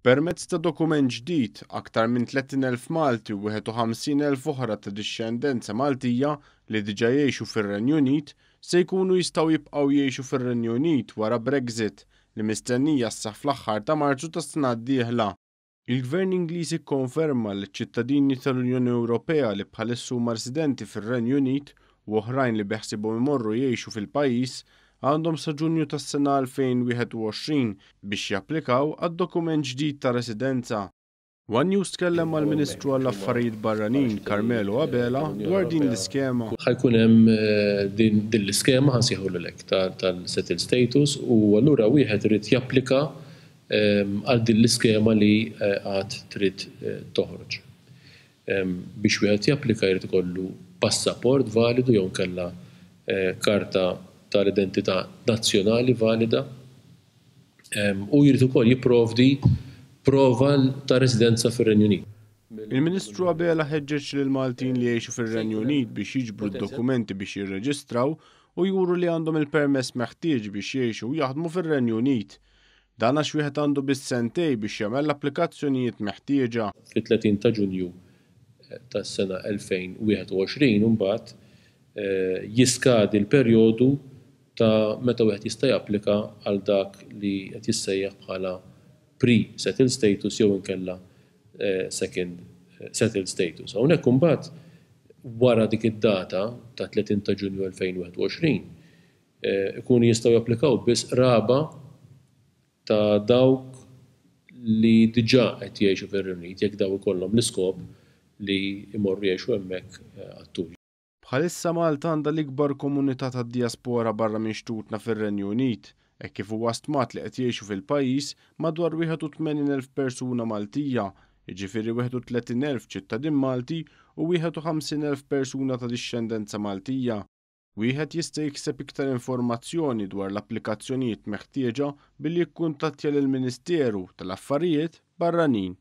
Permezz ta' dokument ġdid, aktar minn 30,000 Malti u 51,000 oħra ta' dixxendenza Maltija li diġà jgħixu fir-Renju Unit se jkunu jistgħu jibqgħu jgħixu fir-Renju Unit wara Brexit li mistennija sseħħ fl-aħħar ta' Marzu tas-sena d-dieħla. Il-Gvern Ingliż ikkonferma li ċ-ċittadini tal-Unjoni Ewropea li bħalissa huma residenti fir-Renju Unit u oħrajn li beħsiebhom imorru jgħixu fil-pajjiż għandhom sa Ġunju tas-sena 2021 biex japplikaw għad-dokument ġdid ta' residenza. One News tkellem mal-Ministru għall-Affarijiet Barranin Carmelo Abela dwar din l-iskema. Ħa jkun hemm din l-iskema, ħa nsejħulha hekk, tal-settled status u allura wieħed irid japplika għal din l-iskema li għad trid toħroġ. Biex wieħed japplika jrid ikollu passaport validu jew inkella karta tal-identità nazzjonali valida u jrid ukoll jipprovdi prova ta' residenza fir-Renju Unit. Il-Ministru Abela ħeġġeġ lill-Maltin li jgħixu fir-Renju Unit biex jiġbru d-dokumenti biex jirreġistraw u juru li għandhom il-permess meħtieġ biex jgħixu u jaħdmu fir-Renju Unit. Dan għax wieħed għandu biss sentejn biex jagħmel l-applikazzjonijiet meħtieġa. Fit-30 ta' Ġunju tas-sena 2021 imbagħad jiskadi l-perjodu ta' meta wieħed jista' japplika għal dak li qed jissejjaħ bħala pre-settled status jew inkella second settled status. Hawnhekk imbagħad wara dik id-data ta' 30 ta' Ġunju 2021 ikunu jistgħu japplikaw biss qraba ta' dawk li diġà qed jgħixu fir-Renju Unit jekk dawn ikollhom l-iskop li jmorru jgħixu hemmhekk għat-tul. Bħalissa Malta għandha l-ikbar komunità tad-dijaspora barra minn xtutna fir-Renju Unit, hekk kif huwa stmat li qed jgħixu fil-pajjiż madwar 81,000 persuna Maltija, jiġifieri 31,000 ċittadin Malti u 51,000 persuna ta' dixxendenza Maltija. Wieħed jista' jikseb iktar informazzjoni dwar l-applikazzjonijiet meħtieġa billi jikkuntattja lill-Ministeru tal-Affarijiet Barranin.